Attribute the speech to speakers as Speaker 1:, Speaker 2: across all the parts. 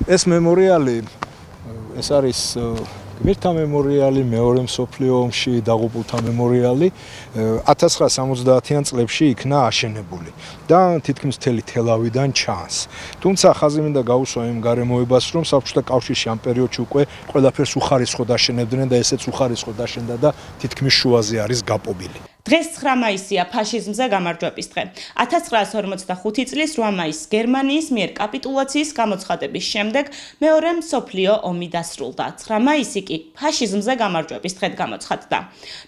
Speaker 1: ეს მემორიალი ეს არის გმირთა მემორიალი, მეორე მსოფლიო ომში დაღუპულთა მემორიალი 1970-იან წლებში იქნა აშენებული და თითქმის მთელი თელავიდან ჩანს. თუმცა ხაზი მინდა გაუსვა იმ გარემოებას, რომ საბჭოთა კავშირში ამ პერიოდში უკვე ყველაფერს უხარისხოდ აშენებდნენ და ესეც უხარისხოდ აშენდა და თითქმის შუაზე არის გაპობილი.
Speaker 2: დღეს 9 მაისია ფაშიზმზე გამარჯვების დღე. 1945 წლის 8 მაისს გერმანიის მიერ კაპიტულაციის გამოცხადების შემდეგ მეორე მსოფლიო ომი დასრულდა. 9 მაისი კი ფაშიზმზე გამარჯვების დღედ გამოცხადდა.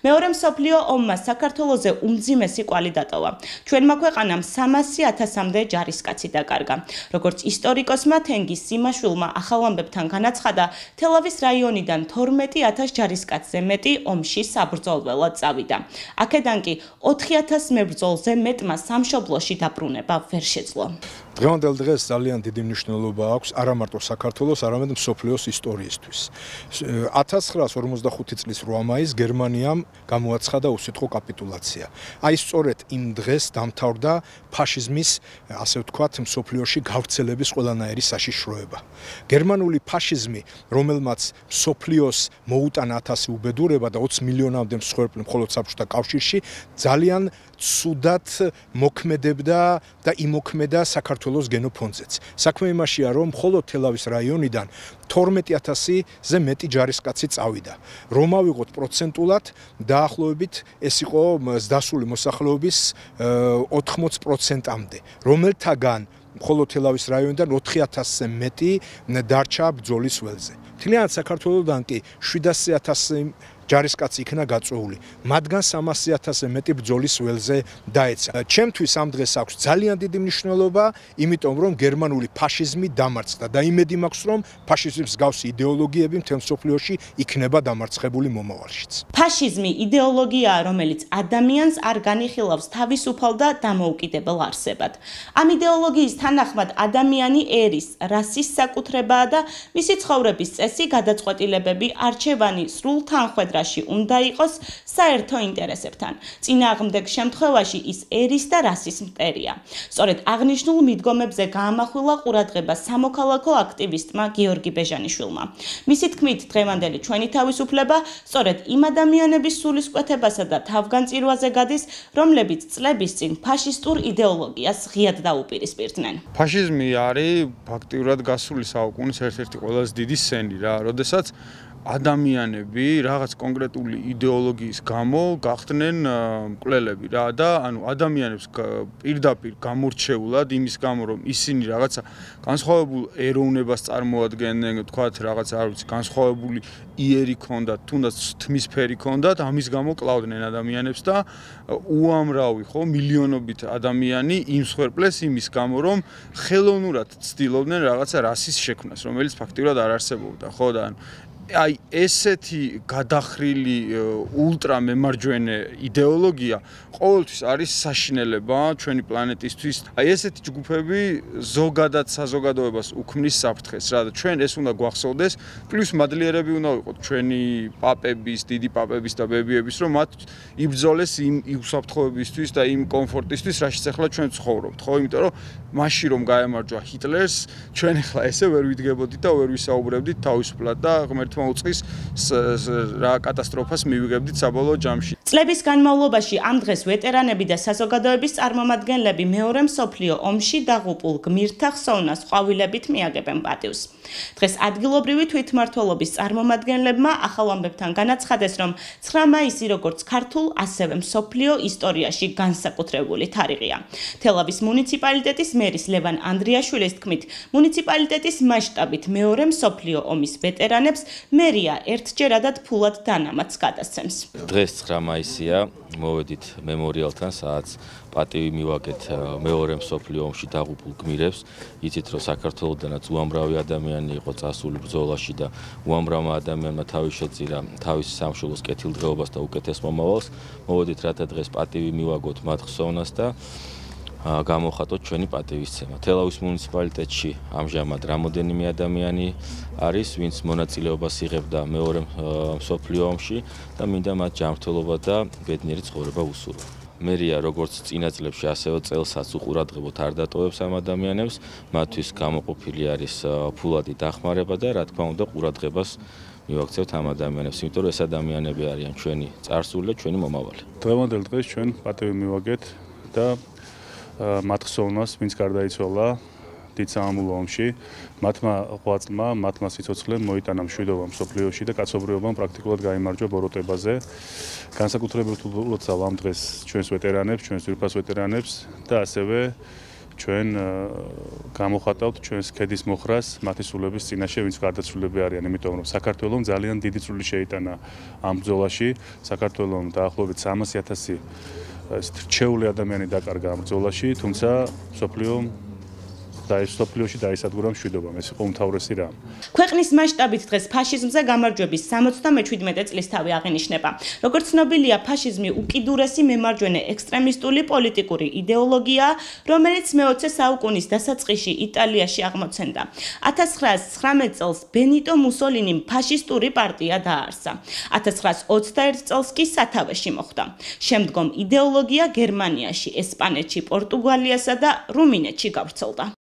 Speaker 2: მეორე მსოფლიო ომმა საქართველოზე უმძიმესი კვალი დატოვა. ჩვენმა ქვეყანამ 300,000-მდე ჯარისკაცი დაკარგა. როგორც ისტორიკოსმა თენგიზ სიმაშვილმა ახალ ამბებთან განაცხადა, თელავის რაიონიდან 12,000 ჯარისკაცზე მეტი ომში საბრძოლველად წავიდა. აქედან კი 4,000 მებრძოლზე მეტმა სამშობლოში დაბრუნება ვერ შეძლო.
Speaker 1: დღევანდელ დღეს ძალიან დიდი მნიშვნელობა აქვს არა მარტო საქართველოს, არამედ მსოფლიოს ისტორიისთვის. 1945 წლის 8 მაისს გერმანიამ გამოაცხადა უსიტყვო კაპიტულაცია. აი სწორედ იმ დღეს დამთავრდა ფაშიზმის, ასე ვთქვათ, მსოფლიოში გავრცელების ყველანაირი საშიშროება. გერმანული ფაშიზმი, რომელმაც მსოფლიოს მოუტანა 1000 უბედურება და 20 მილიონამდე მსხვერპლი მხოლოდ საბჭოთა კავშირში, ძალიან ცუდად მოქმედებდა და იმოქმედა საქართველოს გენოფონდზეც. საქმე იმაშია, რომ მხოლოდ თელავის რაიონიდან 12,000-ზე მეტი ჯარისკაცი წავიდა. რომ ავიღოთ პროცენტულად, დაახლოებით ეს იყო ზდასული მოსახლეობის 80%-მდე, რომელთაგან მხოლოდ თელავის რაიონიდან 4,000-ზე მეტი დარჩა ბრძოლის ველზე. მთლიანად საქართველოდან კი 700,000 ჯარისკაცი იქნა გაწვეული. მათგან 300,000-ზე მეტი ბრძოლის ველზე დაეცა. ჩემთვის ამ დღეს აქვს ძალიან დიდი მნიშვნელობა, იმიტომ რომ გერმანული ფაშიზმი დამარცხდა და იმედი მაქვს, რომ ფაშიზმის მსგავსი იდეოლოგიები მთელ მსოფლიოში იქნება დამარცხებული მომავალშიც.
Speaker 2: ფაშიზმი იდეოლოგიაა, რომელიც ადამიანს არ განიხილავს თავისუფალ და დამოუკიდებელ არსებად. ამ იდეოლოგიის თანახმად ადამიანი ერის, რასის საკუთრებაა და მისი ცხოვრების წესი, გადაწყვეტილებები, არჩევანი სრულ თანხვედრა უნდა იყოს საერთო ინტერესებთან. წინააღმდეგ შემთხვევაში ის ერის და რასის მტერია. სწორედ აღნიშნულ მიდგომებზე გაამახვილა ყურადღება სამოქალაქო აქტივისტმა გიორგი ბეჟანიშვილმა. მისი თქმით, დღევანდელი ჩვენი თავისუფლება სწორედ იმ ადამიანების სულისკვეთებასა და თავგანწირვაზე გადის, რომლებიც წლების წინ ფაშისტურ იდეოლოგიას ღიად დაუპირისპირდნენ.
Speaker 3: ფაშიზმი არის ფაქტიურად გასული საუკუნის ერთ-ერთი ყველაზე დიდი სენი რა, როდესაც ადამიანები რაღაც კონკრეტული იდეოლოგიის გამო გახდნენ მკვლელები რა და ანუ ადამიანებს პირდაპირ გამორჩეულად იმის გამო რომ ისინი რაღაცა განსხვავებულ ეროვნებას წარმოადგენენ, თქვათ რაღაც არ ვიცი, განსხვავებული იერი ქონდათ, თუნდაც თმისფერი ქონდათ, ამის გამო კლავდნენ ადამიანებს და უამრავი ხო მილიონობით ადამიანი იმსხვერპლეს იმის გამო რომ ხელოვნურად ცდილობდნენ რაღაცა რასის შექმნას, რომელიც ფაქტიურად არ არსებობდა, ხო და აი ესეთი გადახრილი ულტრა მემარჯვენე იდეოლოგია ყოველთვის არის საშინელება ჩვენი პლანეტისთვის. აი ესეთი ჯგუფები ზოგადად საზოგადოებას უქმნის საფრთხეს რა და ჩვენ ეს უნდა გვახსოვდეს, პლუს მადლიერები უნდა ვიყოთ ჩვენი პაპების, დიდი პაპების და ბებიების, რომ მათ იბრძოლეს იმ უსაფრთხოებისთვის და იმ კომფორტისთვის, რაშიც ახლა ჩვენ ცხოვრობთ, ხო? იმიტომ რომ მაშინ რომ გაემარჯვა ჰიტლერს, ჩვენ ახლა ესე ვერ ვიდგებოდით და ვერ ვისაუბრებდით თავისუფლად და ღმერთმა უწყის რა კატასტროფას მივიღებდით საბოლოო ჯამში.
Speaker 2: წლების განმავლობაში ამ დღეს ვეტერანები და საზოგადოების წარმომადგენლები მეორე მსოფლიო ომში დაღუპულ გმირთა ხსოვნას ყვავილებით მიაგებენ პატივს. დღეს ადგილობრივი თვითმმართველობის წარმომადგენლებმა ახალ ამბებთან განაცხადეს, რომ 9 მაისი როგორც ქართულ, ასევე მსოფლიო ისტორიაში განსაკუთრებული თარიღია. თელავის მუნიციპალიტეტის მერის ლევან ანდრიაშვილის თქმით, მუნიციპალიტეტის მასშტაბით მეორე მსოფლიო ომის ვეტერანებს მერია ერთჯერადად ფულად დანამატს გადასცემს.
Speaker 4: დღეს 9 მაისია, მოვედით მემორიალთან, სადაც პატივი მივაგეთ მეორე მსოფლიო ომში დაღუპულ გმირებს. იცით, რომ საქართველოდანაც უამრავი ადამიანი იყო წასული ბრძოლაში და უამრავმა ადამიანმა თავი შეწირა თავის სამშობლოს კეთილდღეობას და უკეთეს მომავალს. მოვედით, რათა დღეს პატივი მივაგოთ მათ ხსოვნას და გამოხატოთ ჩვენი პატივისცემა. თელავის მუნიციპალიტეტში ამჟამად რამოდენიმე ადამიანი არის, ვინც მონაწილეობას იღებდა მეორე მსოფლიო ომში და მინდა მათ ჯანმრთელობა და ბედნიერი ცხოვრება უსურვო. მერია როგორც წინა წლებში, ასევე წელსაც უყურადღებოდ არ დატოვებს ამ ადამიანებს, მათთვის გამოყოფილი არის ფულადი დახმარება და რა თქმა უნდა ყურადღებას მივაქცევთ ამ ადამიანებს, იმიტომ რომ ეს ადამიანები არიან ჩვენი წარსული და ჩვენი მომავალი.
Speaker 5: დღევანდელ დღეს ჩვენ პატივი მივაგეთ და მათ ხსოვნას, ვინც გარდაიცვალა დიდ სამამულო ომში, მათმა ღვაწლმა, მათმა სიცოცხლემ მოიტანა მშვიდობა მსოფლიოში და კაცობრიობამ პრაქტიკულად გაიმარჯვა ბოროტებაზე. განსაკუთრებით ულოცავ ამ დღეს ჩვენს ვეტერანებს, ჩვენს ძვირფას ვეტერანებს და ასევე ჩვენ გამოხატავთ ჩვენს ქედის მოხრას მათი სულების წინაშე, ვინც გარდაცვლილები არიან, იმიტომ რომ საქართველოს ძალიან დიდი წვლილი შეიტანა ამ ბრძოლაში. საქართველოს დაახლოებით 300,000 რჩეული ადამიანი დაკარგა ამ ბრძოლაში, თუმცა სოფლიოში დაისადგურა მშვიდობამ. ეს იყო უმთავრესი რამ.
Speaker 2: ქვეყნის მასშტაბით დღეს ფაშიზმზე გამარჯვების 77 წლისთავი აღინიშნება. როგორც ცნობილია, ფაშიზმი უკიდურესი მემარჯვენე ექსტრემისტული პოლიტიკური იდეოლოგიაა, რომელიც მე-20 საუკუნის დასაწყისში იტალიაში აღმოცენდა. 1919 წელს ბენიტო მუსოლინიმ ფაშისტური პარტია დააარსა. 1921 წელს კი სათავეში მოხვდა. შემდგომ იდეოლოგია გერმანიაში, ესპანეთში, პორტუგალიასა და რუმინეთში გავრცელდა.